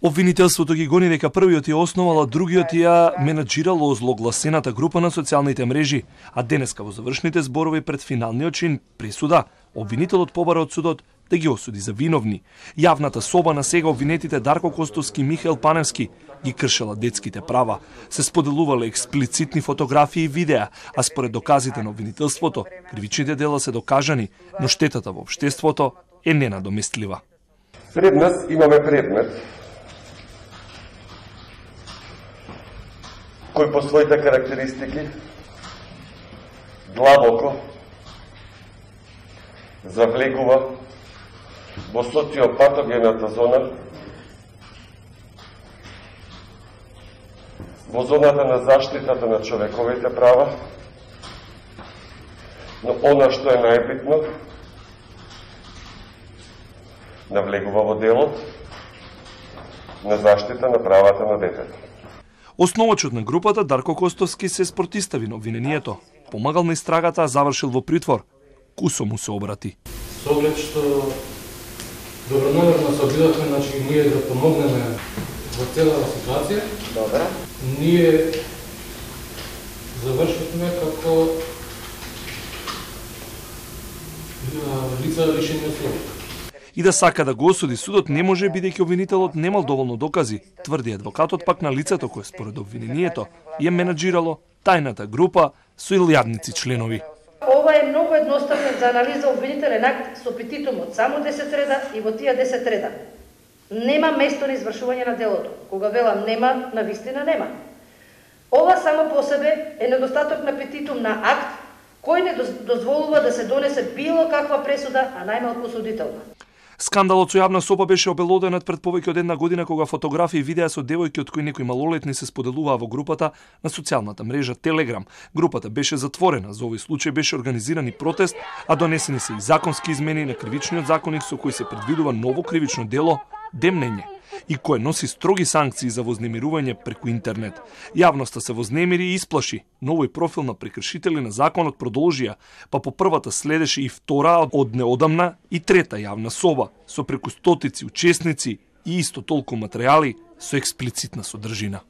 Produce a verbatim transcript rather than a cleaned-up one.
Обвинителството ги гони дека првиот ја основала, другиот ја менаџирало озлогласената група на социјалните мрежи, а денеска во завршните зборови пред финалниот чин пресуда, обвинителот побара од судот да ги осуди за виновни. Јавната соба на сега обвинетите Дарко Костовски и Михаел Паневски ги кршела детските права, се споделувале експлицитни фотографии и видеа, а според доказите на обвинителството, кривичните дела се докажани, но штетата во општеството е ненадоместлива. Пред нас имаме предмет кој по своите карактеристики длабоко завлегува во социопатогената зона, во зоната на заштитата на човековите права, но она што е најбитно, навлегува во делот на заштита на правата на детето. Основачот на групата Дарко Костовски се спротистави на обвинението. Помагал на истрагата, а завршил во притвор. Кусо му се обрати. Со оглед што добронамерно се обидовме, значи ние да помогнеме во целата ситуација. Добра. Ние завршивме како лица лишени од слобода. И да сака да го осуди судот не може, бидејќи обвинителот немал доволно докази, тврди адвокатот пак на лицето кој според обвинението ја менаџирало тајната група со илјадници членови. Ова е многу едноставно за анализа обвинителен акт со петитум од само десет реда и во тие десет реда нема место на извршување на делото. Кога велам нема, навистина нема. Ова само по себе е недостаток на петитум на акт кој не дозволува да се донесе било каква пресуда, а најмалку осудителна. Скандалот со јавна соба беше обелоденат пред повеќе од една година кога фотографии и видеа со девојки од кои некои малолетни се споделуваа во групата на социјалната мрежа Телеграм. Групата беше затворена, за овој случај беше организиран и протест, а донесени се и законски измени на кривичниот законник со кој се предвидува ново кривично дело демнење и кое носи строги санкции за вознемирување преку интернет. Јавноста се вознемири и исплаши. Новој профил на прекршители на законот продолжија, па по првата следеше и втора од неодамна и трета јавна соба со преку стотици учесници и исто толку материјали со експлицитна содржина.